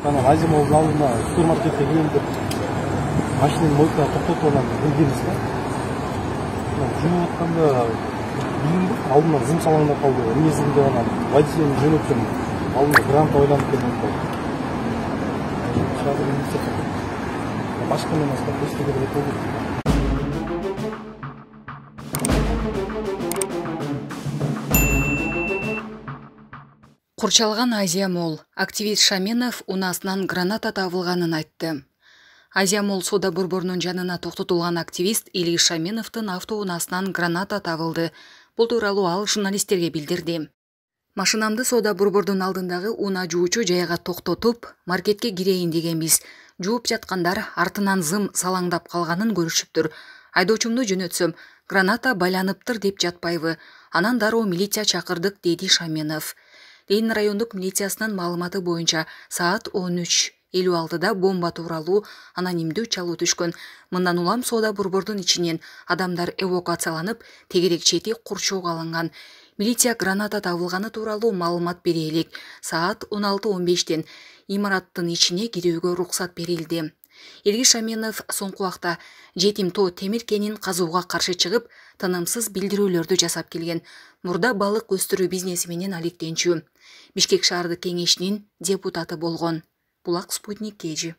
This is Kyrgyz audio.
Анан Азия Молдун алдына супермаркетке кирейин деп машинаны мойкага токтотуп анан киргенбиз да. Жууп атканда билдим, алдыман зым салаңдап калды. Эмнесин деп анан водитель жөнөтсөм, алдымда грант ойланып келип калды. Башка менен эстеге керек болду. Курчалган Азия Мол. Активист Шаменов унаасынан граната табылганын айтты. Азия Мол соода борборунун жанына токтотулган активист Ильис Шаменовдун автоунаасынан граната табылды. Бул тууралуу ал журналисттерге билдирди. Машинамды соода борбордун алдындагы унаа жуучу жайга токтотуп, маркетке кирейин дегенбиз. Жууп жаткандар артынан зым салаңдап калганын көрүшүптүр. Айдоочумду жөнөтсөм, граната байланыптыр деп жатпайбы. Анан дароо милиция чакырдык, деди Шаменов. Ленин райондук милициясынын маалыматы боюнча саат 13:56 бомба тууралуу анонимдүү чалуу түшкөн. Мындан улам соода борбордун ичинен адамдар эвакуацияланып, тегерек чети курчоого алынган. Милиция граната табылганы тууралуу маалымат бере элек. Саат 16:15 имараттын ичине кирүүгө уруксат берилди. Ильис Шаменов соңку убакта жетим тоо темир кенин казууга каршы чыгып, тынымсыз билдирүүлөрдү жасап келген. Мурда балык өстүрүү бизнеси менен алектенчү. Бишкек шаардык кеңешинин депутаты болгон. Булак Спутник KG.